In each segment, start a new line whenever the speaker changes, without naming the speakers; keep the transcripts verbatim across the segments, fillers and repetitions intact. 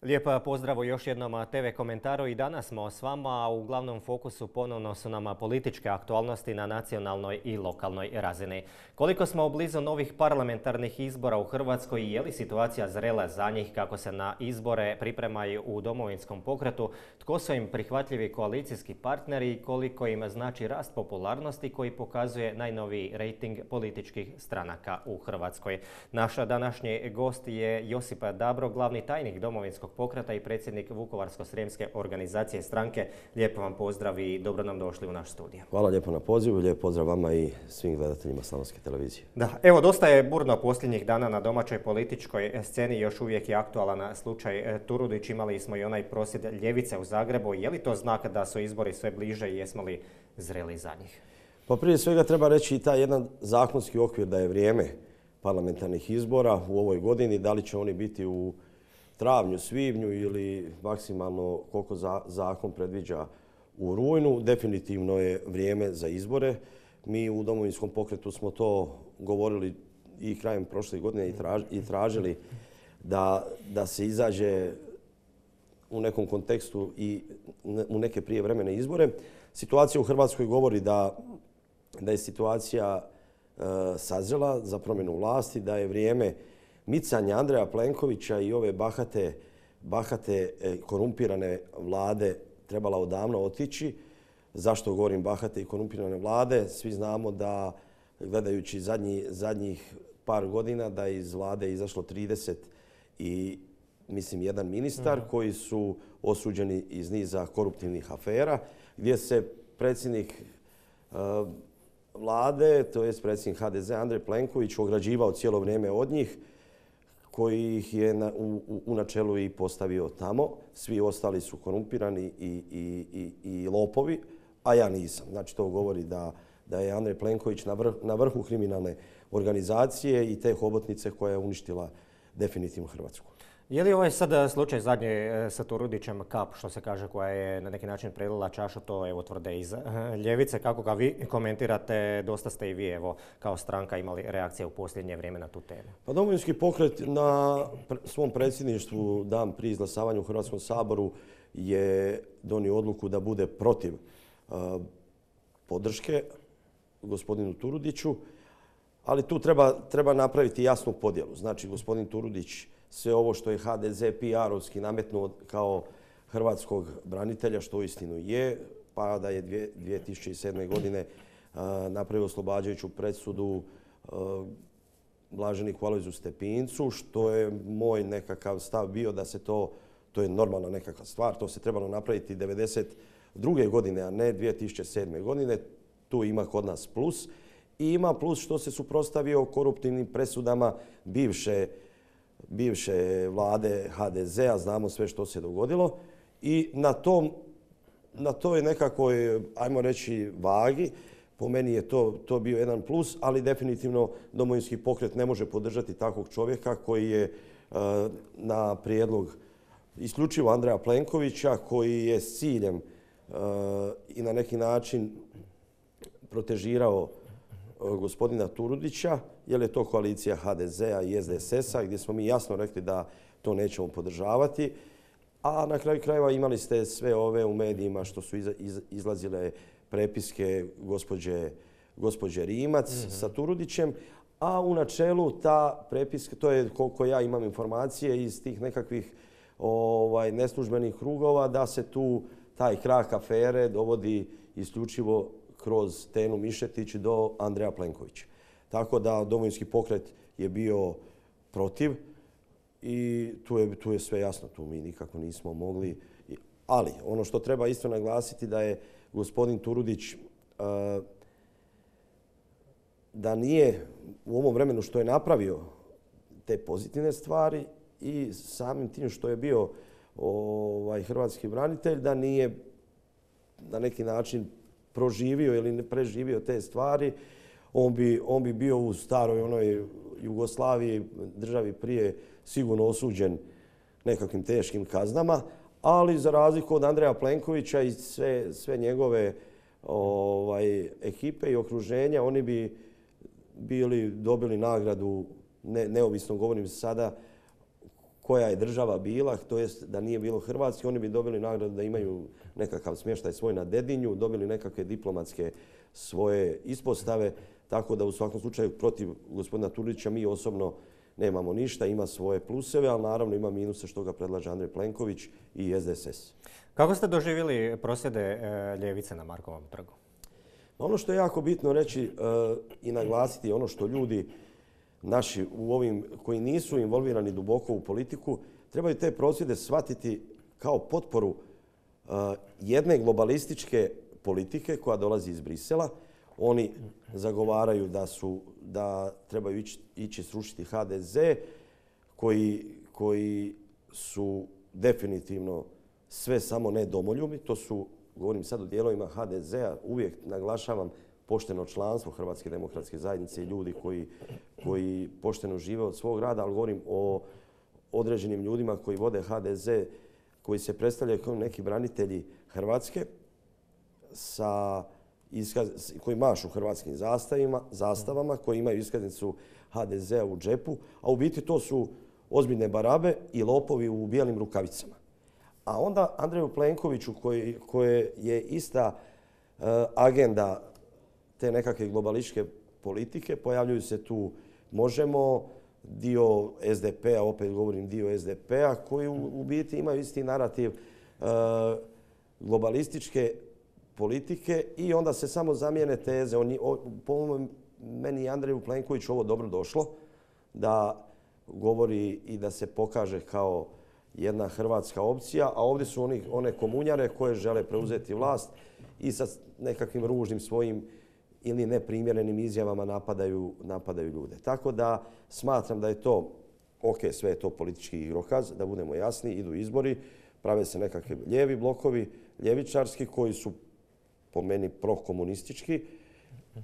Lijep pozdrav u još jednom te ve komentaru i danas smo s vama, a u glavnom fokusu ponovno su nam političke aktualnosti na nacionalnoj i lokalnoj razini. Koliko smo blizu novih parlamentarnih izbora u Hrvatskoj i je li situacija zrela za njih, kako se na izbore pripremaju u Domovinskom pokretu, tko su im prihvatljivi koalicijski partneri i koliko im znači rast popularnosti koji pokazuje najnoviji rejting političkih stranaka u Hrvatskoj. Naš današnji gost je Josip Dabro, glavni tajnik Domovinskog pokreta i predsjednik Vukovarsko-srijemske organizacije stranke. Lijepo vam pozdrav i dobro nam došli u naš studio.
Hvala lijepo na pozivu, lijep pozdrav vama i svim gledateljima Slavonske televizije.
Da, evo, dosta je burno posljednjih dana na domaćoj političkoj sceni, još uvijek je aktualan slučaj Turudić. Imali smo i onaj prosvjed ljevice u Zagrebu. Je li to znak da su izbori sve bliže i jesmo li zreli za njih?
Pa prije svega treba reći i taj jedan zakonski okvir da je vrijeme parlamentarnih izbora u ovoj godini. Da li će oni biti u travnju, svibnju ili maksimalno koliko zakon predviđa u rujnu, definitivno je vrijeme za izbore. Mi u Domovinskom pokretu smo to govorili i krajem prošle godine i tražili da, da se izađe u nekom kontekstu i u neke prijevremene izbore. Situacija u Hrvatskoj govori da, da je situacija e, sazrela za promjenu vlasti, da je vrijeme micanja Andreja Plenkovića i ove bahate, bahate korumpirane vlade trebala odavno otići. Zašto govorim bahate i korumpirane vlade? Svi znamo da, gledajući zadnji, zadnjih par godina, da je iz vlade izašlo trideset i mislim jedan ministar mm. koji su osuđeni iz niza koruptivnih afera, gdje se predsjednik uh, vlade, to je predsjednik ha de ze Andrej Plenković, ograđivao cijelo vrijeme od njih, koji ih je na, u, u načelu i postavio tamo. Svi ostali su korumpirani i, i, i, i lopovi, a ja nisam. Znači to govori da, da je Andrej Plenković na, vrh, na vrhu kriminalne organizacije i te hobotnice koja je uništila definitivno Hrvatsku.
Je li ovaj sad slučaj zadnji sa Turudićem kap, što se kaže, koja je na neki način prelila čašu, to evo tvrde iz ljevice. Kako ga vi komentirate? Dosta ste i vi evo kao stranka imali reakcije u posljednje vrijeme na tu temu.
Pa Domovinski pokret na svom predsjedništvu dan prije izglasavanja u Hrvatskom saboru je donio odluku da bude protiv uh, podrške gospodinu Turudiću, ali tu treba, treba napraviti jasnu podjelu. Znači gospodin Turudić sve ovo što je ha de ze pe er-ovski nametnuo kao hrvatskog branitelja, što uistinu je, pa da je dvije tisuće sedme. godine uh, napravio oslobađajuću presudu uh, blaženiku Alojziju Stepincu, što je moj nekakav stav bio da se to, to je normalna nekakva stvar, to se trebalo napraviti devedeset druge. godine, a ne dvije tisuće sedme. godine. Tu ima kod nas plus. I ima plus što se suprotstavio koruptivnim presudama bivše bivše vlade ha de ze-a, znamo sve što se dogodilo. I na tom, na toj nekakvoj, ajmo reći, vagi, po meni je to, to bio jedan plus, ali definitivno Domovinski pokret ne može podržati takvog čovjeka koji je uh, na prijedlog isključivo Andreja Plenkovića, koji je s ciljem uh, i na neki način protežirao gospodina Turudića, jer je to koalicija ha de ze-a i es de es es-a, gdje smo mi jasno rekli da to nećemo podržavati. A na kraju krajeva imali ste sve ove u medijima što su izlazile prepiske gospođe, gospođe Rimac mm-hmm. sa Turudićem, a u načelu ta prepiska, to je koliko ja imam informacije iz tih nekakvih ovaj, neslužbenih krugova, da se tu taj krak afere dovodi isključivo kroz Tenu Mišetić do Andreja Plenkovića. Tako da Domovinski pokret je bio protiv i tu je, tu je sve jasno, tu mi nikako nismo mogli. Ali ono što treba isto naglasiti da je gospodin Turudić uh, da nije u ovom vremenu što je napravio te pozitivne stvari i samim tim što je bio ovaj, hrvatski branitelj, da nije na neki način proživio ili ne preživio te stvari, on bi, on bi bio u staroj onoj Jugoslaviji, državi prije, sigurno osuđen nekakvim teškim kaznama, ali za razliku od Andreja Plenkovića i sve, sve njegove ovaj, ekipe i okruženja, oni bi bili, dobili nagradu, ne, neovisno govorim sada, koja je država bila, to jest da nije bilo Hrvatske, oni bi dobili nagradu da imaju nekakav smještaj svoj na Dedinju, dobili nekakve diplomatske svoje ispostave, tako da u svakom slučaju protiv gospodina Turudića mi osobno nemamo ništa, ima svoje pluseve, ali naravno ima minuse što ga predlaže Andrej Plenković i S D S S.
Kako ste doživjeli prosvjede e, ljevice na Markovom trgu?
Ono što je jako bitno reći e, i naglasiti, ono što ljudi naši u ovim koji nisu involvirani duboko u politiku, trebaju te prosvjede shvatiti kao potporu uh, jedne globalističke politike koja dolazi iz Brisela. Oni zagovaraju da, su, da trebaju ići, ići srušiti H D Z, koji, koji su definitivno sve samo ne domoljubi. To su, govorim sad o dijelovima H D Z-a, uvijek naglašavam pošteno članstvo Hrvatske demokratske zajednice i ljudi koji, koji pošteno žive od svog rada, ali govorim o određenim ljudima koji vode H D Z, koji se predstavljaju kao neki branitelji Hrvatske, sa iskaz, koji mašu hrvatskim zastavima, zastavama, koji imaju iskaznicu H D Z-a u džepu, a u biti to su ozbiljne barabe i lopovi u bijelim rukavicama. A onda Andreju Plenkoviću, koji, koje je ista uh, agenda te nekakve globalističke politike, pojavljuju se tu Možemo, dio S D P-a, opet govorim dio S D P-a, koji u, u biti imaju isti narativ uh, globalističke politike i onda se samo zamijene teze. On, o, po meni je Andreju Plenkoviću ovo dobro došlo, da govori i da se pokaže kao jedna hrvatska opcija, a ovdje su oni, one komunjare koje žele preuzeti vlast i sa nekakvim ružnim svojim ili neprimjerenim izjavama napadaju, napadaju ljude. Tako da smatram da je to, ok, sve je to politički igrokaz, da budemo jasni, idu izbori, prave se nekakvi lijevi blokovi, ljevičarski, koji su po meni prokomunistički,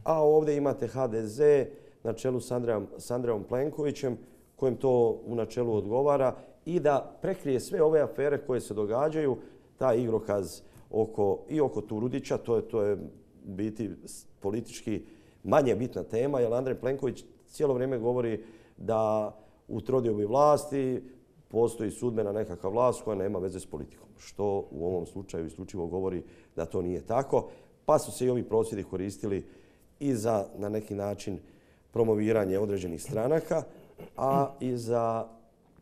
a ovdje imate H D Z na čelu s Andrejom, s Andrejom Plenkovićem, kojem to u načelu odgovara i da prekrije sve ove afere koje se događaju, taj igrokaz oko, i oko Turudića, to je, to je biti politički manje bitna tema, jer Andrej Plenković cijelo vrijeme govori da u trodiobi vlasti postoji sudbena nekakva vlast koja nema veze s politikom, što u ovom slučaju isključivo govori da to nije tako, pa su se i ovi prosvjedi koristili i za na neki način promoviranje određenih stranaka, a i za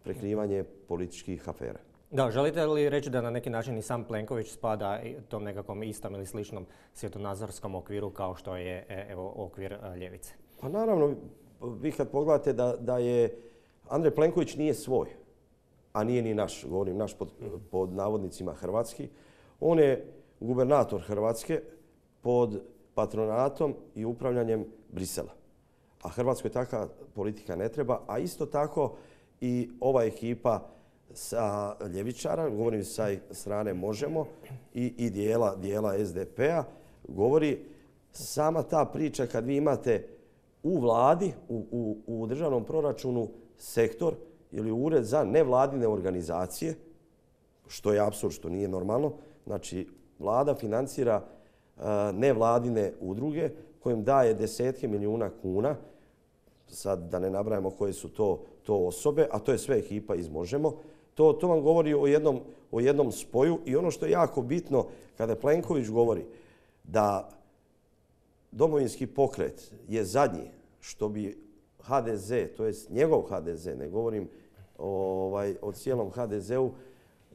prekrivanje političkih afera.
Da, želite li reći da na neki način i sam Plenković spada tom nekakvom istom ili sličnom svjetonazorskom okviru kao što je evo, okvir ljevice?
Pa naravno, vi kad pogledate da, da je Andrej Plenković nije svoj, a nije ni naš, govorim naš pod, pod navodnicima hrvatski. On je gubernator Hrvatske pod patronatom i upravljanjem Brisela. A Hrvatskoj takva politika ne treba, a isto tako i ova ekipa sa ljevičara, govorim sa strane Možemo i, i dijela, dijela S D P-a, govori sama ta priča kad vi imate u vladi, u, u, u državnom proračunu sektor ili ured za nevladine organizacije, što je apsurd, što nije normalno. Znači, vlada financira uh, nevladine udruge kojim daje desetke milijuna kuna, sad da ne nabrajamo koje su to, to osobe, a to je sve ekipa iz Možemo. To, to vam govori o jednom, o jednom spoju i ono što je jako bitno kada Plenković govori da Domovinski pokret je zadnji što bi H D Z, to je njegov H D Z, ne govorim ovaj, o cijelom H D Z-u,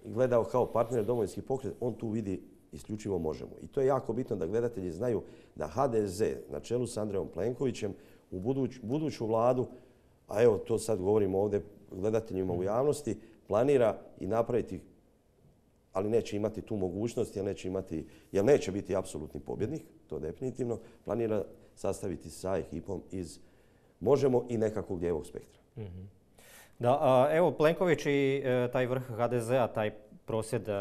gledao kao partner Domovinski pokret, on tu vidi isključivo Možemo. I to je jako bitno da gledatelji znaju da H D Z na čelu s Andrejom Plenkovićem u buduć, buduću vladu, a evo to sad govorimo ovdje gledateljima u javnosti, planira i napraviti, ali neće imati tu mogućnost, jer neće, imati, jer neće biti apsolutni pobjednik, to definitivno, planira sastaviti sa ekipom iz Možemo i nekakvog lijevog spektra.
Mm-hmm. Da, a, evo Plenković i e, taj vrh H D Z-a, taj prosvjed e,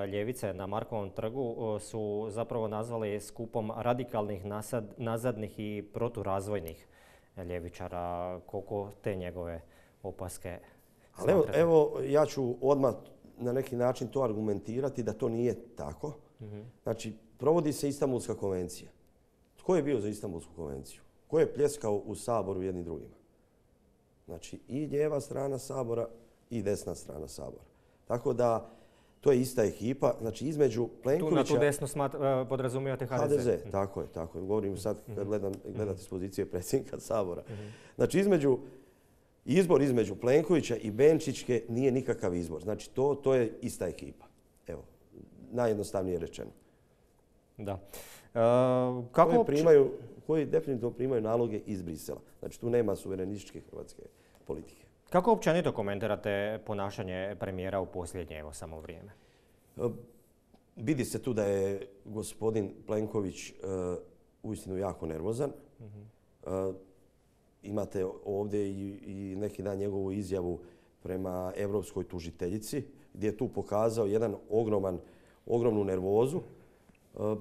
ljevice na Markovom trgu e, su zapravo nazvali skupom radikalnih, nasad, nazadnih i proturazvojnih ljevičara. Koliko te njegove opaske
ali evo, evo, ja ću odmah na neki način to argumentirati da to nije tako. Mm-hmm. Znači, provodi se Istanbulska konvencija. Tko je bio za Istanbulsku konvenciju? Ko je pljeskao u Saboru jednim drugima? Znači, i lijeva strana Sabora i desna strana Sabora. Tako da to je ista ekipa. Znači između Plenkovića...
Tu na tu desnu smat, podrazumijevate H D Z?
H D Z, tako je, tako je. Govorim sad kad gledam, gledate s pozicije predsjednika Sabora. Znači između, izbor između Plenkovića i Benčićke nije nikakav izbor. Znači to, to je ista ekipa. Evo, najjednostavnije rečeno.
Da. E, kako
koji, primaju, koji definitivno primaju naloge iz Brisela. Znači tu nema suverenističke hrvatske politike.
Kako općenito komentirate ponašanje premijera u posljednje evo samo vrijeme?
E, vidi se tu da je gospodin Plenković e, uistinu jako nervozan. Mm-hmm. e, imate ovdje i, i neki dan njegovu izjavu prema europskoj tužiteljici gdje je tu pokazao jedan ogroman, ogromnu nervozu. E,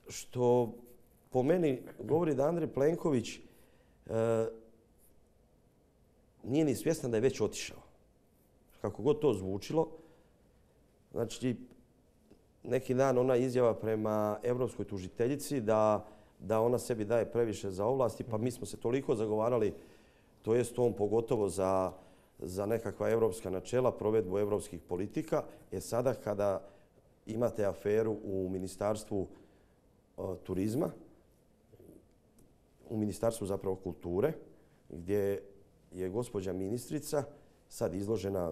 što po meni govori da Andrej Plenković e, nije ni svjestan da je već otišao. Kako god to zvučilo. Znači, neki dan ona izjava prema europskoj tužiteljici da, da ona sebi daje previše za ovlasti, pa mi smo se toliko zagovarali, to jest on pogotovo za, za nekakva europska načela, provedbu europskih politika. E sada kada imate aferu u Ministarstvu uh, turizma, u Ministarstvu zapravo kulture, gdje je gospođa ministrica sad izložena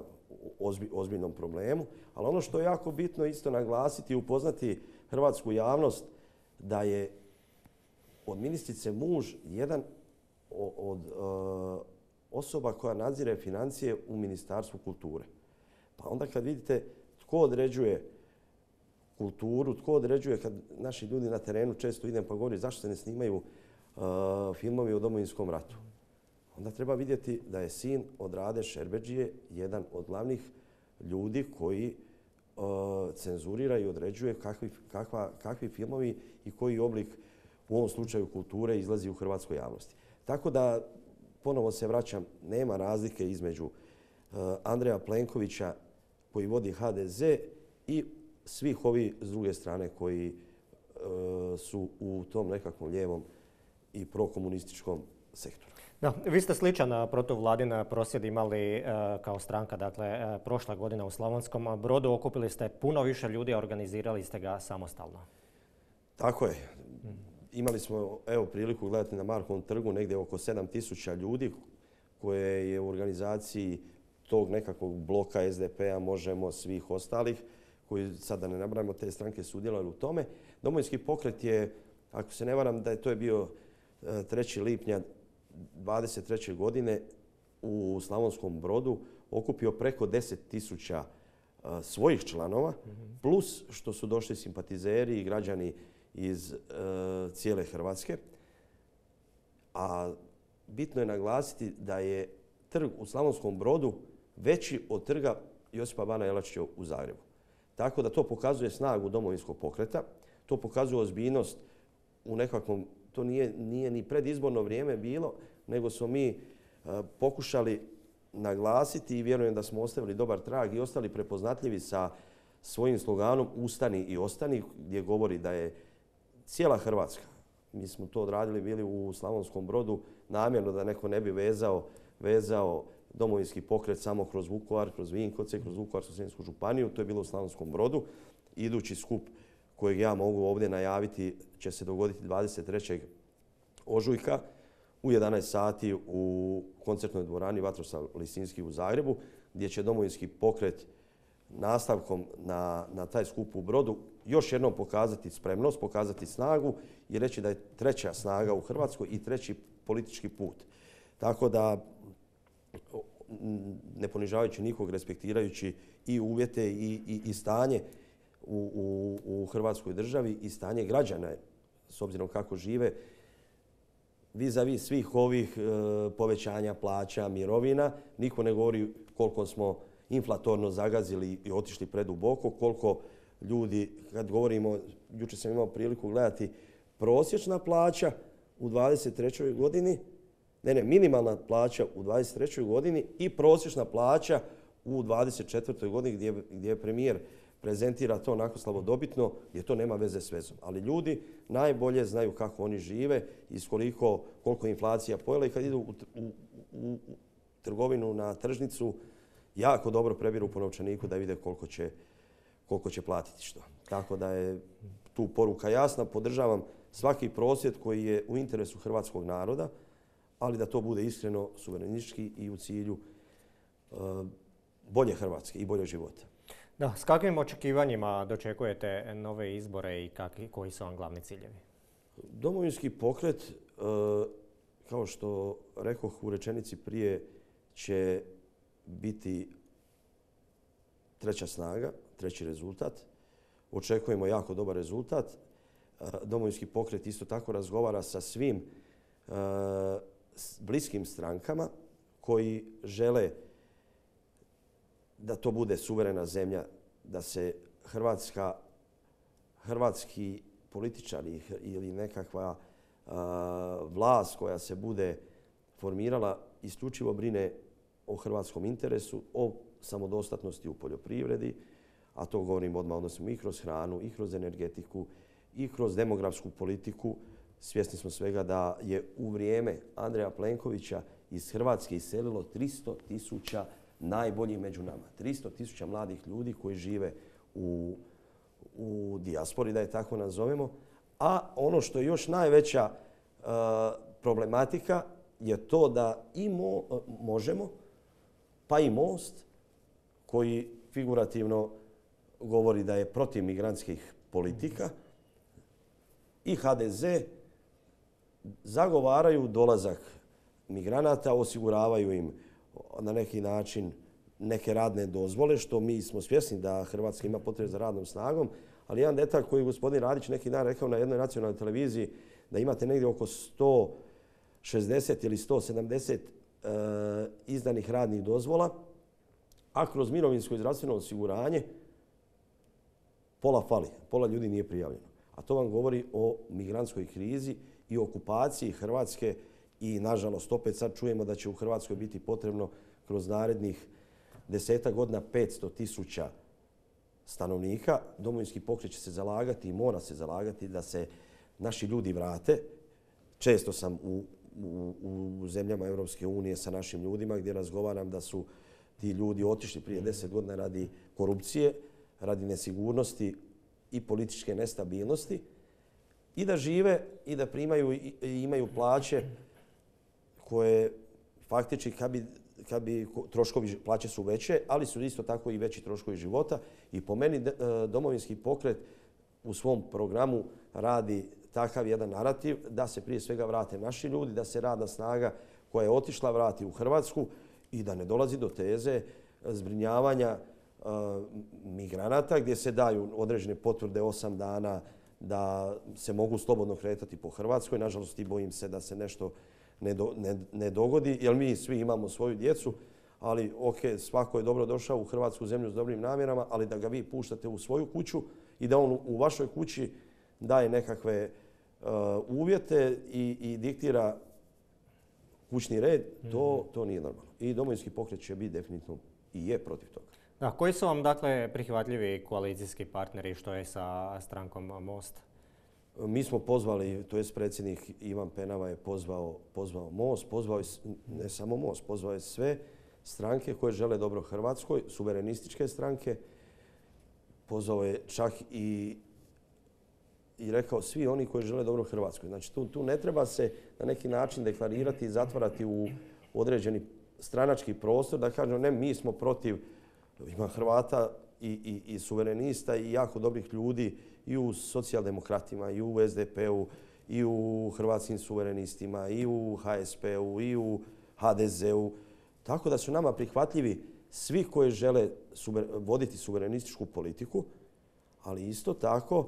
ozbi, ozbiljnom problemu. Ali ono što je jako bitno isto naglasiti i upoznati hrvatsku javnost da je od ministrice muž jedan od uh, osoba koja nadzire financije u Ministarstvu kulture. Pa onda kad vidite tko određuje kulturu, tko određuje kad naši ljudi na terenu često idem pa govori zašto se ne snimaju uh, filmovi o Domovinskom ratu. Onda treba vidjeti da je sin od Rade Šerbedžije jedan od glavnih ljudi koji uh, cenzurira i određuje kakvi, kakva, kakvi filmovi i koji oblik u ovom slučaju kulture izlazi u hrvatskoj javnosti. Tako da, ponovo se vraćam, nema razlike između uh, Andreja Plenkovića koji vodi H D Z i svih ovih s druge strane koji uh, su u tom nekakvom lijevom i prokomunističkom sektoru.
Da, vi ste sličan protuvladin prosvjed imali e, kao stranka, dakle, e, prošla godina u Slavonskom Brodu. Okupili ste puno više ljudi, a organizirali ste ga samostalno.
Tako je. Imali smo evo, priliku gledati na Markovom trgu negdje oko sedam tisuća ljudi koje je u organizaciji tog nekakvog bloka S D P-a, Možemo, svih ostalih, koji sad da ne nabrajamo te stranke sudjelovali u tome. Domovinski pokret je, ako se ne varam, da je to je bio trećeg lipnja dvadeset treće godine u Slavonskom Brodu okupio preko deset tisuća svojih članova, mm-hmm. plus što su došli simpatizeri i građani iz uh, cijele Hrvatske. A bitno je naglasiti da je trg u Slavonskom Brodu veći od trga Josipa Bana Jelačića u Zagrebu. Tako da to pokazuje snagu Domovinskog pokreta, to pokazuje ozbiljnost u nekakvom, to nije, nije ni predizborno vrijeme bilo, nego smo mi uh, pokušali naglasiti i vjerujem da smo ostavili dobar trag i ostali prepoznatljivi sa svojim sloganom Ustani i ostani, gdje govori da je cijela Hrvatska, mi smo to odradili bili u Slavonskom Brodu namjerno da neko ne bi vezao, vezao Domovinski pokret samo kroz Vukovar, kroz Vinkovce, kroz Vukovarsko-srijemsku županiju, to je bilo u Slavonskom Brodu. Idući skup kojeg ja mogu ovdje najaviti će se dogoditi dvadeset trećeg ožujka u jedanaest sati u koncertnoj dvorani Vatroslav Lisinski u Zagrebu, gdje će Domovinski pokret nastavkom na, na taj skup u Brodu još jednom pokazati spremnost, pokazati snagu i reći da je treća snaga u Hrvatskoj i treći politički put. Tako da, ne ponižavajući nikog, respektirajući i uvjete i, i, i stanje u, u, u Hrvatskoj državi i stanje građana, s obzirom kako žive, vis-a-vis svih ovih e, povećanja plaća, mirovina, niko ne govori koliko smo inflatorno zagazili i otišli preduboko, koliko ljudi, kad govorimo, jučer sam imao priliku gledati, prosječna plaća u dvadeset trećoj godini, ne, ne, minimalna plaća u dvadeset trećoj godini i prosječna plaća u dvadeset četvrtoj godini gdje, gdje premijer prezentira to onako slavodobitno, gdje to nema veze s vezom. Ali ljudi najbolje znaju kako oni žive i koliko, koliko inflacija pojela i kad idu u, u, u trgovinu na tržnicu jako dobro prebiru po novčaniku da vide koliko će, koliko će platiti što. Tako da je tu poruka jasna. Podržavam svaki prosvjed koji je u interesu hrvatskog naroda, ali da to bude iskreno, suverenistički i u cilju uh, bolje Hrvatske i bolje života.
Da, s kakvim očekivanjima dočekujete nove izbore i kakvi, koji su vam glavni ciljevi?
Domovinski pokret, uh, kao što rekoh u rečenici prije, će biti treća snaga, treći rezultat. Očekujemo jako dobar rezultat. Domovinski pokret isto tako razgovara sa svim uh, bliskim strankama koji žele da to bude suverena zemlja, da se Hrvatska, hrvatski političari ili nekakva uh, vlast koja se bude formirala isključivo brine o hrvatskom interesu, o samodostatnosti u poljoprivredi, a to govorim odmah odnosimo i kroz hranu, i kroz energetiku, i kroz demografsku politiku. Svjesni smo svega da je u vrijeme Andreja Plenkovića iz Hrvatske iselilo tristo tisuća najboljih među nama. tristo tisuća mladih ljudi koji žive u, u dijaspori, da je tako nazovemo. A ono što je još najveća uh, problematika je to da i mo, možemo, pa i Most, koji figurativno govori da je protiv migrantskih politika, i H D Z zagovaraju dolazak migranata, osiguravaju im na neki način neke radne dozvole, što mi smo svjesni da Hrvatska ima potrebe za radnom snagom, ali jedan detalj koji je gospodin Radić neki dan rekao na jednoj nacionalnoj televiziji, da imate negdje oko sto šezdeset ili sto sedamdeset e, izdanih radnih dozvola, a kroz mirovinsko i zdravstveno osiguranje pola fali, pola ljudi nije prijavljeno. A to vam govori o migrantskoj krizi i okupaciji Hrvatske i, nažalost, opet sad čujemo da će u Hrvatskoj biti potrebno kroz narednih desetak godina petsto tisuća stanovnika. Domovinski pokret će se zalagati i mora se zalagati da se naši ljudi vrate. Često sam u, u, u zemljama Europske unije sa našim ljudima gdje razgovaram da su ti ljudi otišli prije deset godina radi korupcije, radi nesigurnosti i političke nestabilnosti i da žive i da primaju i imaju plaće koje faktički kad bi, kad bi troškovi plaće su veće, ali su isto tako i veći troškovi života. I po meni Domovinski pokret u svom programu radi takav jedan narativ da se prije svega vrate naši ljudi, da se radna snaga koja je otišla vrati u Hrvatsku i da ne dolazi do teze zbrinjavanja uh, migranata gdje se daju određene potvrde osam dana da se mogu slobodno kretati po Hrvatskoj. Nažalost, i bojim se da se nešto ne, do, ne, ne dogodi, jer mi svi imamo svoju djecu, ali ok, svako je dobro došao u hrvatsku zemlju s dobrim namjerama, ali da ga vi puštate u svoju kuću i da on u vašoj kući daje nekakve uh, uvjete i, i diktira kućni red, to, to nije normalno. I Domovinski pokret će biti definitivno i je protiv toga.
Da, koji su vam dakle prihvatljivi koalicijski partneri, što je sa strankom Most?
Mi smo pozvali, to je predsjednik Ivan Penava je pozvao, pozvao Most, pozvao je ne samo Most, pozvao je sve stranke koje žele dobro Hrvatskoj, suverenističke stranke, pozvao je čak i i rekao svi oni koji žele dobro Hrvatskoj. Znači tu, tu ne treba se na neki način deklarirati i zatvarati u određeni stranački prostor da kažemo ne, mi smo protiv, ima Hrvata i, i, i suverenista i jako dobrih ljudi i u socijaldemokratima, i u S D P-u, i u hrvatskim suverenistima, i u H S P-u, i u H D Z-u. Tako da su nama prihvatljivi svi koji žele suver, voditi suverenističku politiku, ali isto tako uh,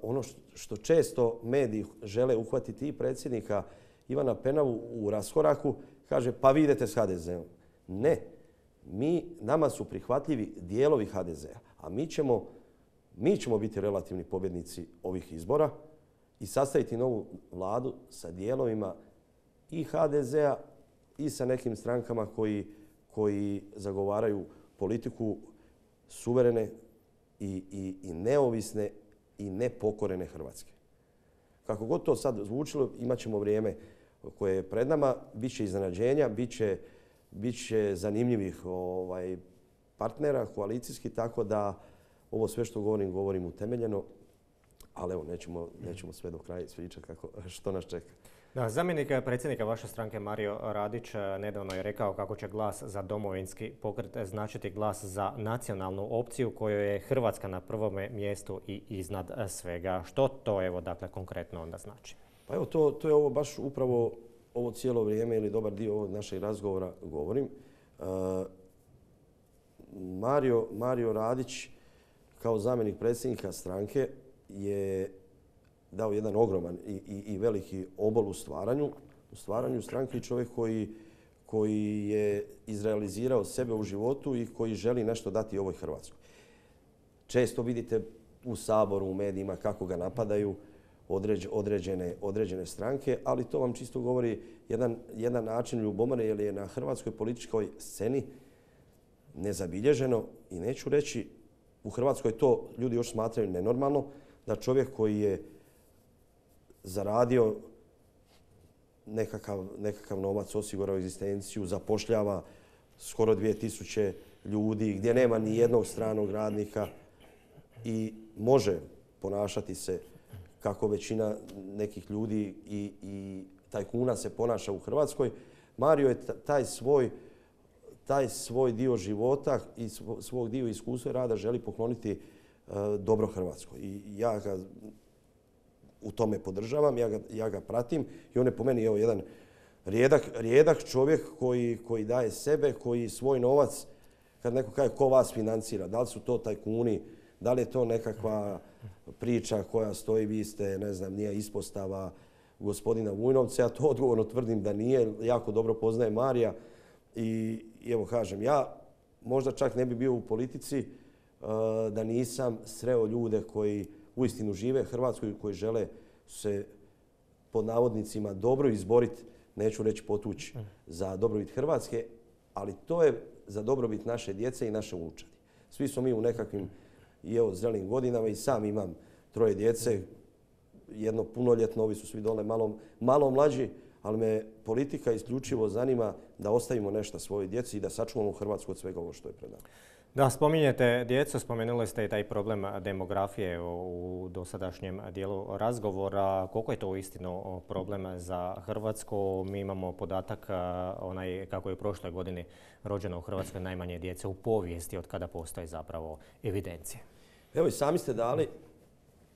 ono što, što često mediji žele uhvatiti i predsjednika Ivana Penavu u raskoraku, kaže pa vi idete s H D Z-om. Ne, mi, nama su prihvatljivi dijelovi H D Z-a, a mi ćemo, mi ćemo biti relativni pobjednici ovih izbora i sastaviti novu vladu sa dijelovima i H D Z-a i sa nekim strankama koji, koji zagovaraju politiku suverene i, i, i neovisne i nepokorene Hrvatske. Kako god to sad zvučilo, imat ćemo vrijeme koje je pred nama, bit će iznenađenja, bit će bit će zanimljivih ovaj, partnera, koalicijski, tako da ovo sve što govorim, govorim utemeljeno, ali evo, nećemo, nećemo sve do kraja ispričati kako, što nas čeka.
Da, zamjenik predsjednika vaše stranke Mario Radić nedavno je rekao kako će glas za domovinski pokret značiti glas za nacionalnu opciju kojoj je Hrvatska na prvome mjestu i iznad svega. Što to evo dakle konkretno onda znači?
Pa evo to, to je ovo baš upravo ovo cijelo vrijeme ili dobar dio ovog našeg razgovora govorim. Uh, Mario, Mario Radić kao zamjenik predsjednika stranke je dao jedan ogroman i, i, i veliki obol u stvaranju, u stvaranju stranke i čovjek koji, koji je izrealizirao sebe u životu i koji želi nešto dati ovoj Hrvatskoj. Često vidite u Saboru, u medijima kako ga napadaju određ, određene, određene stranke, ali to vam čisto govori jedan, jedan način ljubomore jer je na hrvatskoj političkoj sceni nezabilježeno i neću reći u Hrvatskoj to ljudi još smatraju nenormalno da čovjek koji je zaradio nekakav, nekakav novac, osigurao egzistenciju, zapošljava skoro dvije tisuće ljudi, gdje nema ni jednog stranog radnika i može ponašati se kako većina nekih ljudi i, i tajkuna se ponaša u Hrvatskoj. Mario je taj svoj, taj svoj dio života i svog dio iskustva rada želi pokloniti uh, dobro Hrvatskoj. I ja ga u tome podržavam, ja ga, ja ga pratim i on je po meni evo, jedan rijedak, rijedak čovjek koji, koji daje sebe, koji svoj novac, kad neko kaže ko vas financira, da li su to tajkuni, da li je to nekakva priča koja stoji, vi ste, ne znam, nije ispostava gospodina Vujnovca, ja to odgovorno tvrdim da nije, jako dobro poznaje Marija i, i evo kažem, ja možda čak ne bi bio u politici uh, da nisam sreo ljude koji uistinu žive Hrvatskoj, koji žele se pod navodnicima dobro izboriti, neću reći potući, za dobrobit Hrvatske, ali to je za dobrobit naše djece i naše unučadi. Svi smo mi u nekakvim i evo zrelim godinama i sam imam troje djece, jedno punoljetno, ovi su svi dole malo, malo mlađi, ali me politika isključivo zanima da ostavimo nešto svojoj djeci i da sačuvamo Hrvatsku od svega ovo što je pred nama.
Da, spominjete djecu, spomenuli ste i taj problem demografije u dosadašnjem dijelu razgovora. Koliko je to uistinu problem za Hrvatsku? Mi imamo podatak onaj kako je u prošloj godini rođeno u Hrvatskoj najmanje djece u povijesti od kada postoji zapravo evidencije.
Evo i sami ste dali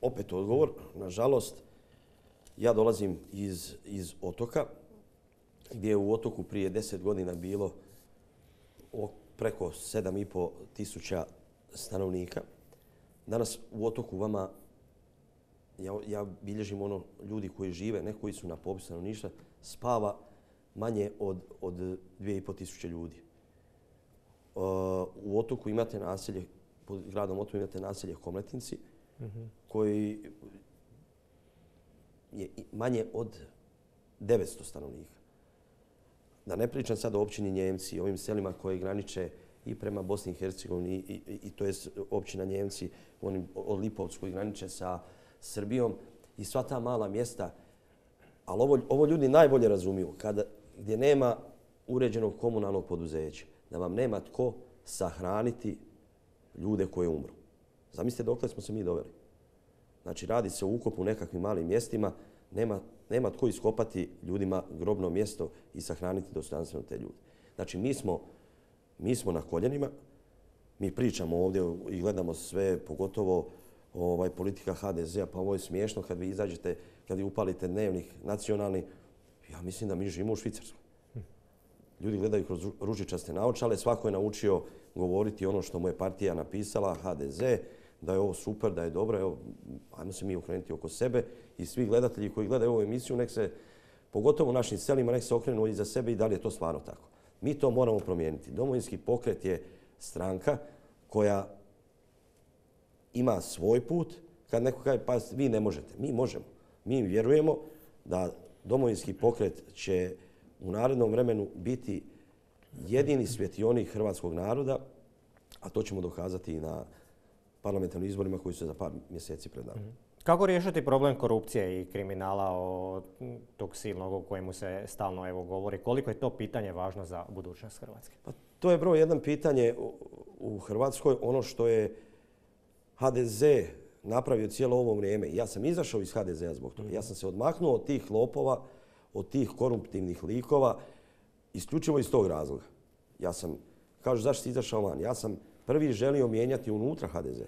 opet odgovor. Nažalost, ja dolazim iz, iz Otoka, gdje je u Otoku prije deset godina bilo preko sedam i pol tisuća stanovnika. Danas u Otoku vama, ja, ja bilježim ono ljudi koji žive, ne koji su na popisu stanovništva, spava manje od, od dvije i pol tisuće ljudi. Uh, u Otoku imate naselje, pod gradom Otoku imate naselje Komletinci, mm-hmm. koji je manje od devetsto stanovnika. Da ne pričam sad o općini Njemci, ovim selima koje graniče i prema Bosni i Hercegovini i, i, i to je općina Njemci onim, od Lipovcu koji graniče sa Srbijom i sva ta mala mjesta. Ali ovo, ovo ljudi najbolje razumiju. Kada, gdje nema uređenog komunalnog poduzeća, da vam nema tko sahraniti ljude koje umru. Zamislite dokle smo se mi doveli. Znači radi se o ukopu u nekakvim malim mjestima, nema Nema tko iskopati ljudima grobno mjesto i sahraniti dostojanstveno te ljude. Znači, mi smo, mi smo na koljenima, mi pričamo ovdje i gledamo sve, pogotovo ovaj, politika ha de zea, pa ovo je smiješno kad vi izađete, kad vi upalite dnevnik nacionalni, ja mislim da mi živimo u Švicarskoj. Ljudi gledaju kroz ružičaste naočale, svako je naučio govoriti ono što mu je partija napisala, ha de ze, da je ovo super, da je dobro, evo, ajmo se mi okrenuti oko sebe i svi gledatelji koji gledaju ovu emisiju, nek se, pogotovo u našim selima, nek se okrenu i za sebe i da li je to stvarno tako. Mi to moramo promijeniti. Domovinski pokret je stranka koja ima svoj put. Kad neko kaže, pa vi ne možete, mi možemo. Mi vjerujemo da Domovinski pokret će u narednom vremenu biti jedini svjetionik hrvatskog naroda, a to ćemo dokazati i na parlamentarnim izborima koji su za par mjeseci pred nama.
Kako riješiti problem korupcije i kriminala, o tog silnog o kojemu se stalno evo govori? Koliko je to pitanje važno za budućnost Hrvatske?
Pa to je broj jedan pitanje u Hrvatskoj. Ono što je ha de ze napravio cijelo ovo vrijeme. Ja sam izašao iz ha de zea zbog toga. Ja sam se odmaknuo od tih lopova, od tih koruptivnih likova, isključivo iz tog razloga. Ja sam, kažu zašto si izašao van? Ja sam prvi želio mijenjati unutra ha de ze.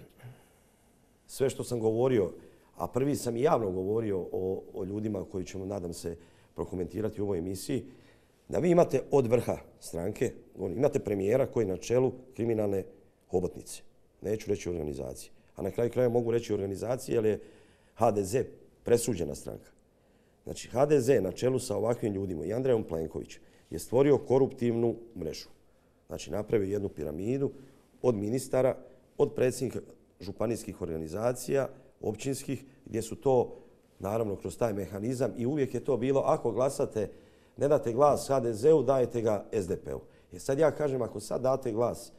Sve što sam govorio, a prvi sam i javno govorio o, o ljudima koji ćemo, nadam se, prokomentirati u ovoj emisiji, da vi imate od vrha stranke, imate premijera koji je na čelu kriminalne hobotnice. Neću reći organizacije. A na kraju kraja mogu reći organizacije jer je ha de ze presuđena stranka. Znači, ha de ze na čelu sa ovakvim ljudima i Andrejom Plenkovićem je stvorio koruptivnu mrežu. Znači, napravio jednu piramidu od ministara, od predsjednika županijskih organizacija, općinskih, gdje su to, naravno, kroz taj mehanizam i uvijek je to bilo, ako glasate, ne date glas ha de zeu, dajete ga es de pe u. Jer sad ja kažem, ako sad date glas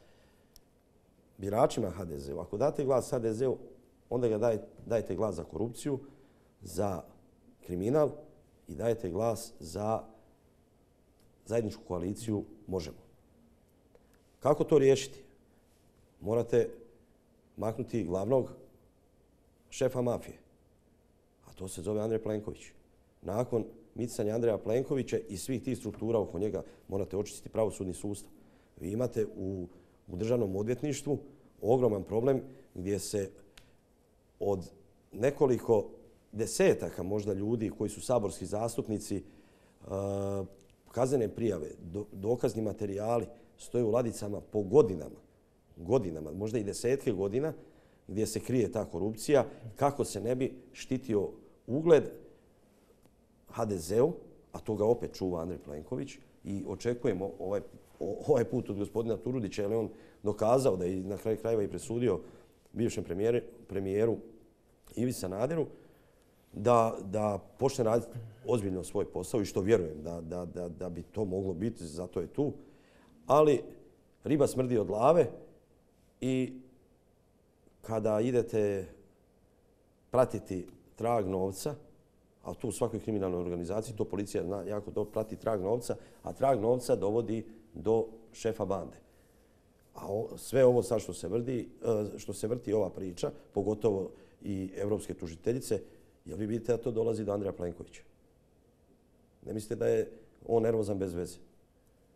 biračima ha de zeu, ako date glas ha de zeu, onda ga daj, dajete glas za korupciju, za kriminal i dajete glas za zajedničku koaliciju Možemo. Kako to riješiti? Morate maknuti glavnog šefa mafije, a to se zove Andrej Plenković. Nakon micanja Andreja Plenkovića i svih tih struktura oko njega morate očistiti pravosudni sustav. Vi imate u, u državnom odvjetništvu ogroman problem gdje se od nekoliko desetaka možda ljudi koji su saborski zastupnici, uh, kaznene prijave, do, dokazni materijali stoje u ladicama po godinama, godinama, možda i desetke godina, gdje se krije ta korupcija, kako se ne bi štitio ugled ha de zeu, a to ga opet čuva Andrej Plenković i očekujemo ovaj, ovaj put od gospodina Turudića, jer je on dokazao da je na kraju krajeva i presudio bivšem premijeru, premijeru Ivi Sanaderu da, da počne raditi ozbiljno svoj posao i što vjerujem da, da, da, da bi to moglo biti, zato je tu. Ali riba smrdi od glave i kada idete pratiti trag novca, a tu u svakoj kriminalnoj organizaciji, to policija zna jako dobro prati trag novca, a trag novca dovodi do šefa bande. A o, sve ovo sad što se, vrdi, što se vrti ova priča, pogotovo i evropske tužiteljice, jel vi vidite da to dolazi do Andreja Plenkovića? Ne mislite da je on nervozan bez veze?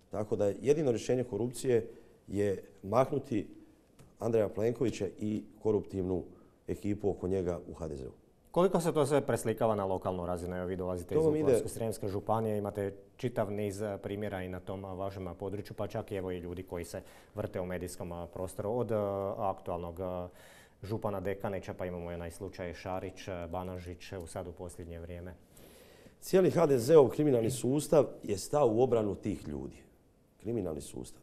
Tako da jedino rješenje korupcije je maknuti Andreja Plenkovića i koruptivnu ekipu oko njega u ha de zeu.
Koliko se to sve preslikava na lokalnu razinu? Evo vi dolazite iz Vukovarsko-srijemske županije, imate čitav niz primjera i na tom vašem području, pa čak i evo i ljudi koji se vrte u medijskom prostoru. Od aktualnog župana Dekanića, pa imamo onaj slučaj Šarić, Banožić, sad u posljednje vrijeme.
Cijeli ha de zeov kriminalni sustav je stao u obranu tih ljudi. Kriminalni sustav.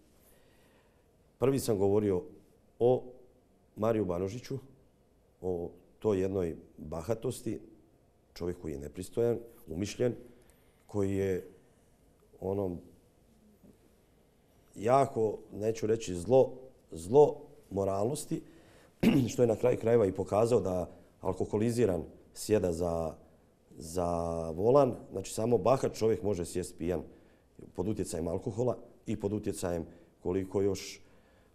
Prvi sam govorio o Mariju Banožiću, o toj jednoj bahatosti, čovjek koji je nepristojan, umišljen, koji je onom jako, neću reći zlo, zlo moralnosti, što je na kraju krajeva i pokazao da alkoholiziran sjeda za, za volan. Znači samo bahat čovjek može sjesti pijan pod utjecajem alkohola i pod utjecajem koliko još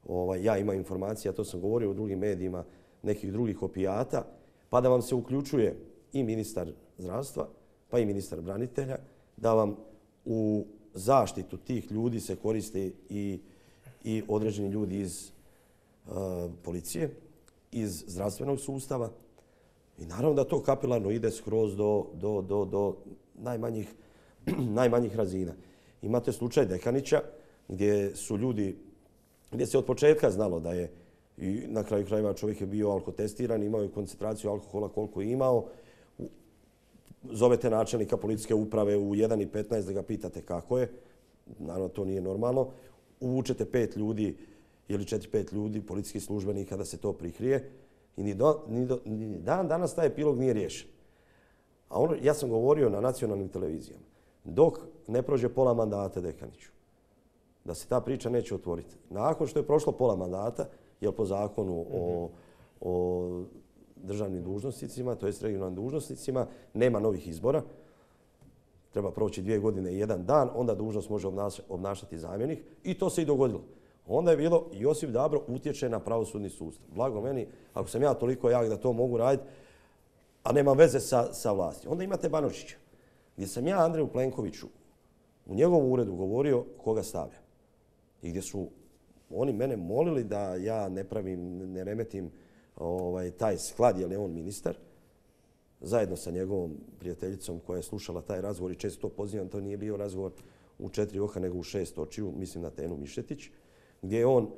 ovaj, ja imam informacija, to sam govorio u drugim medijima, nekih drugih opijata, pa da vam se uključuje i ministar zdravstva, pa i ministar branitelja, da vam u zaštitu tih ljudi se koriste i, i određeni ljudi iz uh, policije, iz zdravstvenog sustava. I naravno da to kapilarno ide skroz do, do, do, do najmanjih, najmanjih razina. Imate slučaj Dekanića gdje su ljudi, gdje se od početka znalo da je i na kraju krajeva čovjek je bio alkotestiran, imao je koncentraciju alkohola koliko je imao. Zovete načelnika policijske uprave u jedan i petnaest da ga pitate kako je. Naravno, to nije normalno. Uvučete pet ljudi ili četiri, pet ljudi, policijskih službenika da se to prikrije. I ni, do, ni, do, ni dan danas taj epilog nije riješen. A ono, ja sam govorio na nacionalnim televizijama. Dok ne prođe pola mandata Dekaniću, da se ta priča neće otvoriti. Nakon što je prošlo pola mandata, jer po zakonu o, o državnim dužnosnicima, to jest regionalnim dužnosnicima, nema novih izbora. Treba proći dvije godine i jedan dan, onda dužnost može obnašati zamjenik i to se i dogodilo. Onda je bilo Josip Dabro utječe na pravosudni sustav. Blago meni, ako sam ja toliko jak da to mogu raditi, a nema veze sa, sa vlasti. Onda imate Banožića, gdje sam ja Andreju Plenkoviću u njegovom uredu govorio koga stavlja. I gdje su oni mene molili da ja ne pravim, ne remetim ovaj, taj sklad, jer je on ministar, zajedno sa njegovom prijateljicom koja je slušala taj razgovor i često to pozivam, to nije bio razgovor u četiri oka nego u šest očiju, mislim na Tenu Mišetić, gdje je on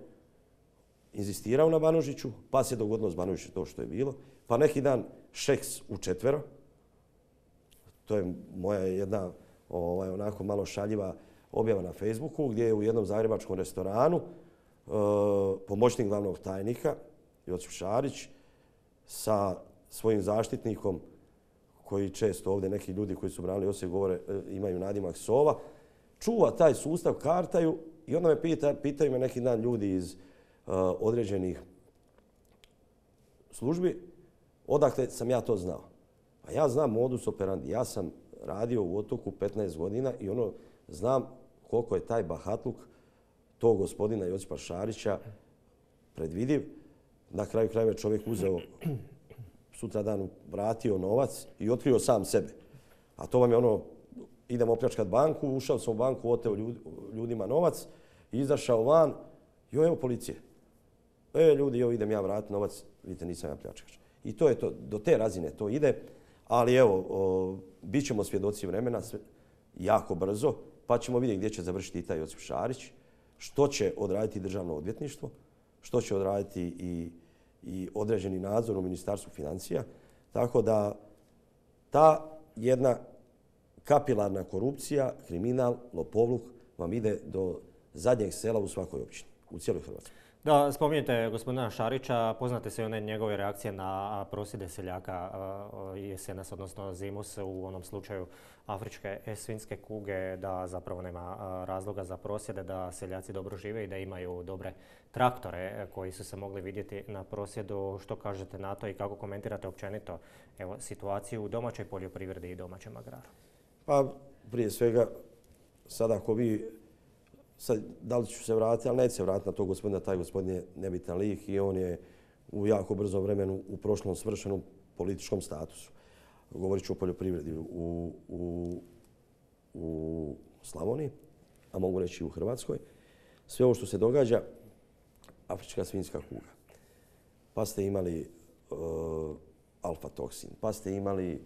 inzistirao na Banožiću, pa se dogodilo s Banožićem to što je bilo, pa neki dan Šeks u četvero, to je moja jedna ovaj, onako malo šaljiva objava na Facebooku, gdje je u jednom zagrebačkom restoranu e, pomoćnik glavnog tajnika Josip Šarić sa svojim zaštitnikom, koji često ovdje neki ljudi koji su branili Osijek govore, imaju nadimak Sova, čuva taj sustav, kartaju i onda me pita, pitaju me neki dan ljudi iz uh, određenih službi odakle sam ja to znao. Pa ja znam modus operandi. Ja sam radio u Otoku petnaest godina i ono znam koliko je taj bahatluk tog gospodina Josipa Šarića predvidiv. Na kraju krajeva čovjek uzeo sutradan vratio novac i otkrio sam sebe. A to vam je ono, idem opljačkat banku, ušao sam u banku, oteo ljudima novac, izašao van, jo evo policije. E ljudi, jo idem ja vratiti novac, vidite nisam ja pljačkač. I to je to, do te razine to ide, ali evo, o, bit ćemo svjedoci vremena sve, jako brzo, pa ćemo vidjeti gdje će završiti i taj Josip Šarić, što će odraditi državno odvjetništvo, što će odraditi i i određeni nadzor u Ministarstvu financija. Tako da ta jedna kapilarna korupcija, kriminal, lopovluk vam ide do zadnjeg sela u svakoj općini, u cijeloj Hrvatskoj.
Da, spominjete gospodina Šarića, poznate se one njegove reakcije na prosvjede seljaka jesenas, odnosno zimus u onom slučaju afričke svinjske kuge, da zapravo nema razloga za prosvjede, da seljaci dobro žive i da imaju dobre traktore koji su se mogli vidjeti na prosvjedu. Što kažete na to i kako komentirate općenito evo, situaciju u domaćoj poljoprivredi i domaćem agraru?
Pa prije svega, sada ako vi sad, da li ću se vratiti, ali neće se vratiti na to gospodina, taj gospodin je nebitan lik i on je u jako brzom vremenu u prošlom svršenom političkom statusu. Govorit ću o poljoprivredi u, u, u Slavoniji, a mogu reći i u Hrvatskoj. Sve ovo što se događa, afrička svinjska kuga, pa ste imali uh, alfa-toksin, pa ste imali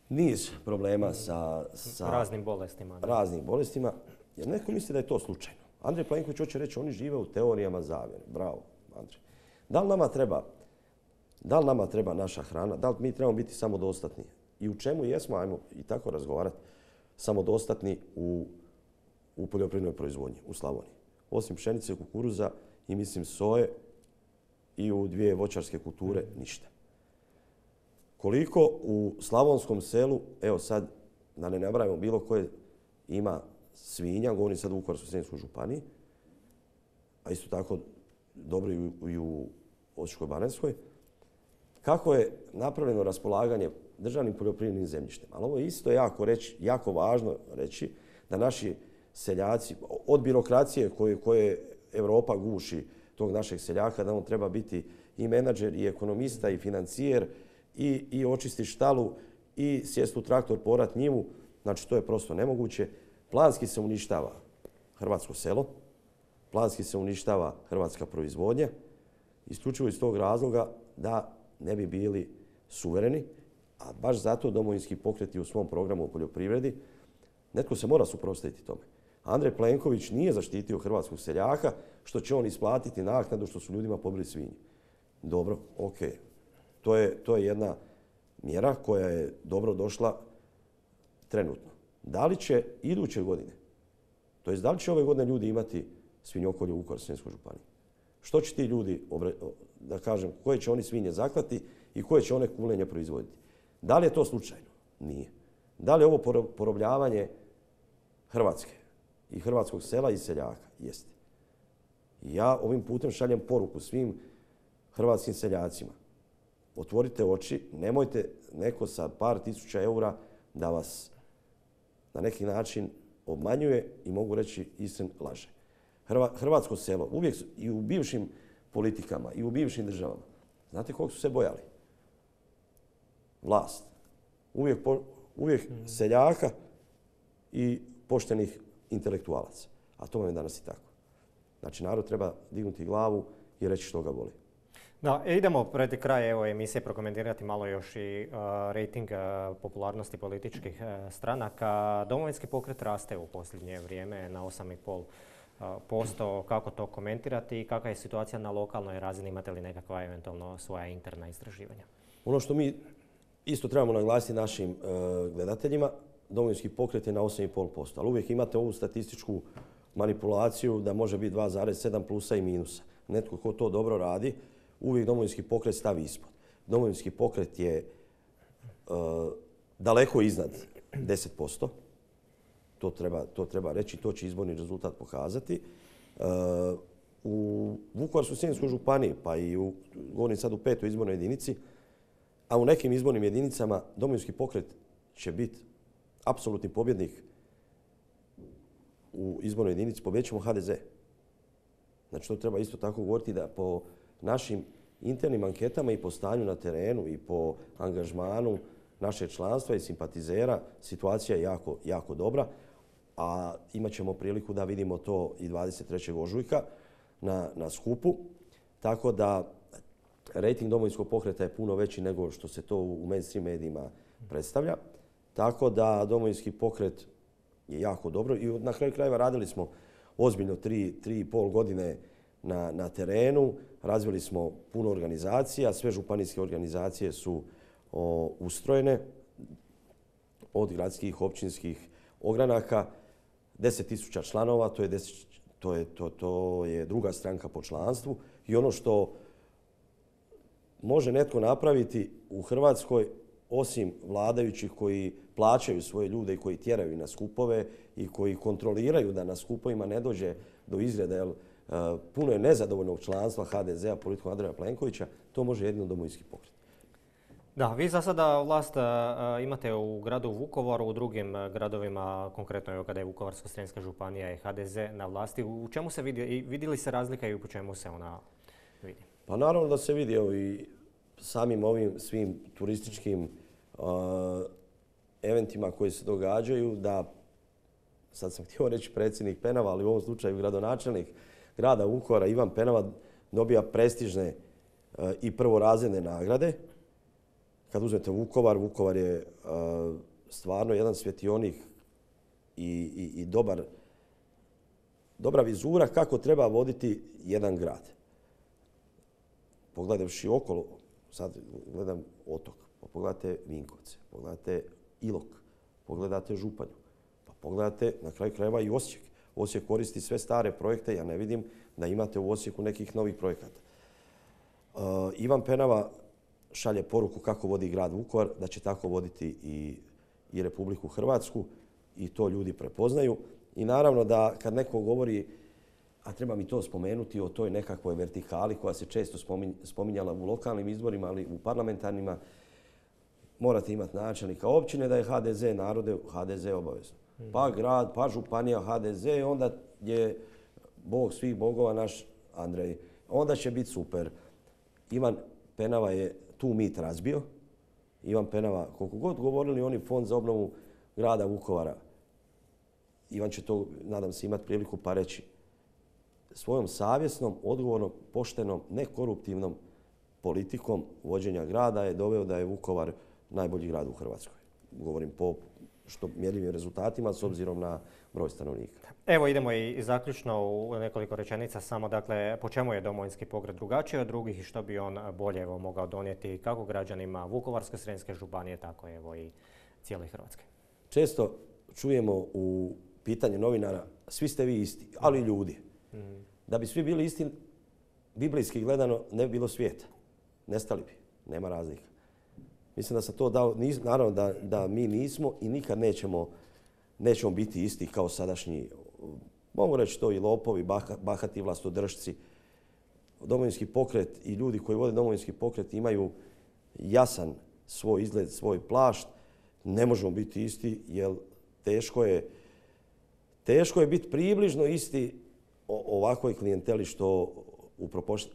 niz problema sa, sa
raznim bolestima. Da.
Raznim bolestima. Jer neko misli da je to slučajno. Andrej Plenković hoće reći, oni žive u teorijama zavjere. Bravo, Andrej. Da li nama treba, da li nama treba naša hrana? Da li mi trebamo biti samodostatni? I u čemu jesmo, ajmo i tako razgovarati, samodostatni u, u poljoprivrednoj proizvodnji u Slavoniji? Osim pšenice, kukuruza i mislim soje i u dvije voćarske kulture ništa. Koliko u slavonskom selu, evo sad da ne nabrajamo bilo koje ima svinja, govorim sad u Vukovarsko-srijemskoj županiji, a isto tako dobro i u Osječko-baranjskoj, kako je napravljeno raspolaganje državnim poljoprivrednim zemljištem. Ali ovo je isto jako, reći, jako važno reći da naši seljaci, od birokracije koje, koje Europa guši tog našeg seljaka, da on treba biti i menadžer, i ekonomista, i financijer, i, i očisti štalu, i sjest u traktor, porat njivu. Znači, to je prosto nemoguće. Planski se uništava hrvatsko selo, planski se uništava hrvatska proizvodnja, isključivo iz tog razloga da ne bi bili suvereni, a baš zato Domovinski pokret je u svom programu o poljoprivredi, netko se mora suprotstaviti tome. Andrej Plenković nije zaštitio hrvatskog seljaka, što će on isplatiti naknadu što su ljudima pobili svinje. Dobro, ok. To je, to je jedna mjera koja je dobro došla trenutno. Da li će iduće godine, to jest da li će ove godine ljudi imati svinjokolje u Vukovarsko-srijemskoj županiji? Što će ti ljudi, da kažem, koje će oni svinje zaklati i koje će one kulenje proizvoditi? Da li je to slučajno? Nije. Da li je ovo porobljavanje Hrvatske i hrvatskog sela i seljaka? Jeste. Ja ovim putem šaljem poruku svim hrvatskim seljacima. otvorite oči, nemojte neko sa par tisuća eura da vas na neki način obmanjuje i mogu reći istinu laže. Hrvatsko selo, uvijek i u bivšim politikama i u bivšim državama, znate koliko su se bojali? Vlast. Uvijek, uvijek seljaka i poštenih intelektualaca. A to vam je danas i tako. Znači, narod treba dignuti glavu i reći što ga boli.
Da, idemo pred kraj evo, emisije prokomentirati malo još i uh, rejting uh, popularnosti političkih uh, stranaka. Domovinski pokret raste u posljednje vrijeme na osam i pol posto. Kako to komentirati i kakva je situacija na lokalnoj razini? Imate li nekakva eventualno svoja interna istraživanja?
Ono što mi isto trebamo naglasiti našim uh, gledateljima, Domovinski pokret je na osam i pol posto, ali uvijek imate ovu statističku manipulaciju da može biti dva zarez sedam plusa i minusa. Netko ko to dobro radi, uvijek Domovinski pokret stavi ispod. Domovinski pokret je uh, daleko iznad deset posto. To treba, to treba reći, to će izborni rezultat pokazati. Uh, u Vukovarsko-srijemskoj županiji, pa i u, govorim sad u petoj izbornoj jedinici, a u nekim izbornim jedinicama Domovinski pokret će biti apsolutni pobjednik u izbornoj jedinici, pobjedit ćemo H D Z. Znači to treba isto tako govoriti da po našim internim anketama i po stanju na terenu i po angažmanu našeg članstva i simpatizera situacija je jako, jako dobra, a imat ćemo priliku da vidimo to i dvadeset trećeg ožujka na, na skupu. Tako da rejting Domovinskog pokreta je puno veći nego što se to u mainstream medijima predstavlja. Tako da Domovinski pokret je jako dobro i na kraju krajeva radili smo ozbiljno tri, tri i pol godine na, na terenu. Razvili smo puno organizacija, sve županijske organizacije su o, ustrojene od gradskih, općinskih ogranaka, deset tisuća članova, to je, deset, to, je, to, to je druga stranka po članstvu i ono što može netko napraviti u Hrvatskoj, osim vladajućih koji plaćaju svoje ljude i koji tjeraju na skupove i koji kontroliraju da na skupovima ne dođe do izreda, jer uh, puno je nezadovoljnog članstva H D Z-a, politikom Andreja Plenkovića, to može jedino Domovinski pokret.
Da, vi za sada vlast uh, imate u gradu Vukovaru, u drugim gradovima, konkretno evo kada je Vukovarsko-srijemska županija i H D Z na vlasti. U čemu se vidi, i vidi li se razlika i u čemu se ona vidi?
Pa naravno da se vidi, evo i samim ovim svim turističkim uh, eventima koji se događaju, da, sad sam htio reći predsjednik Penava, ali u ovom slučaju gradonačelnik grada Vukovara, Ivan Penava, dobija prestižne uh, i prvorazredne nagrade. Kad uzmete Vukovar, Vukovar je uh, stvarno jedan svjetionik i, i, i dobar, dobra vizura kako treba voditi jedan grad. Pogledavši okolo, sad gledam Otok, pa pogledate Vinkovce, pogledate Ilok, pogledate Županju, pa pogledate na kraju krajeva i Osijek. Osijek koristi sve stare projekte, ja ne vidim da imate u Osijeku nekih novih projekata. Uh, Ivan Penava šalje poruku kako vodi grad Vukovar, da će tako voditi i, i Republiku Hrvatsku i to ljudi prepoznaju. I naravno da kad neko govori, a treba mi to spomenuti, o toj nekakvoj vertikali koja se često spominjala u lokalnim izborima, ali u parlamentarnima, morate imati načelnika općine da je H D Z narode, H D Z obavezno. Pa grad, pa županija, H D Z, onda je bog svih bogova naš Andrej. Onda će biti super. Ivan Penava je tu mit razbio. Ivan Penava, koliko god govorili oni Fond za obnovu grada Vukovara, Ivan će to, nadam se, imati priliku pa reći, svojom savjesnom, odgovornom, poštenom, nekoruptivnom politikom vođenja grada je doveo da je Vukovar najbolji grad u Hrvatskoj. Govorim po što mjerljivim rezultatima s obzirom na broj stanovnika.
Evo idemo i zaključno u nekoliko rečenica samo, dakle, po čemu je Domovinski pokret drugačiji od drugih i što bi on bolje evo, mogao donijeti kako građanima Vukovarsko-srijemske županije, tako evo i cijele Hrvatske.
Često čujemo u pitanju novinara, svi ste vi isti, ali ljudi. Mm. Da bi svi bili isti, biblijski gledano, ne bi bilo svijeta. Nestali bi, nema razlika. Mislim da sam to dao, naravno da, da mi nismo i nikad nećemo, nećemo biti isti kao sadašnji, mogu reći to i lopovi, bah, bahati vlastodržci. Domovinski pokret i ljudi koji vode Domovinski pokret imaju jasan svoj izgled, svoj plašt, ne možemo biti isti jer teško je, teško je biti približno isti o ovakvoj klijenteli što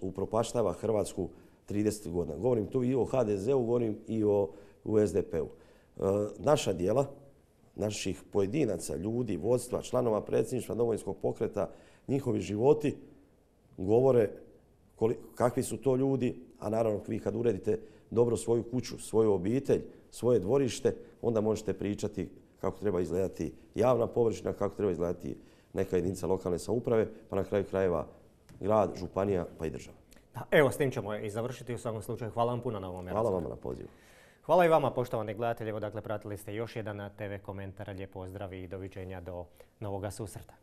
upropaštava Hrvatsku trideset godina. Govorim tu i o ha de zeu, govorim i o u es de pe u. Naša djela, naših pojedinaca, ljudi, vodstva, članova predsjedništva Domovinskog pokreta, njihovi životi govore kakvi su to ljudi, a naravno vi kad uredite dobro svoju kuću, svoju obitelj, svoje dvorište, onda možete pričati kako treba izgledati javna površina, kako treba izgledati neka jedinica lokalne samouprave, pa na kraju krajeva grad, županija, pa i država.
Da, evo, s tim ćemo i završiti u svakom slučaju. Hvala vam puno na ovome.
Hvala vam na pozivu.
Hvala i vama, poštovani gledatelji. Evo, dakle, pratili ste još jedan te ve komentar. Lijep pozdrav i doviđenja do novoga susreta.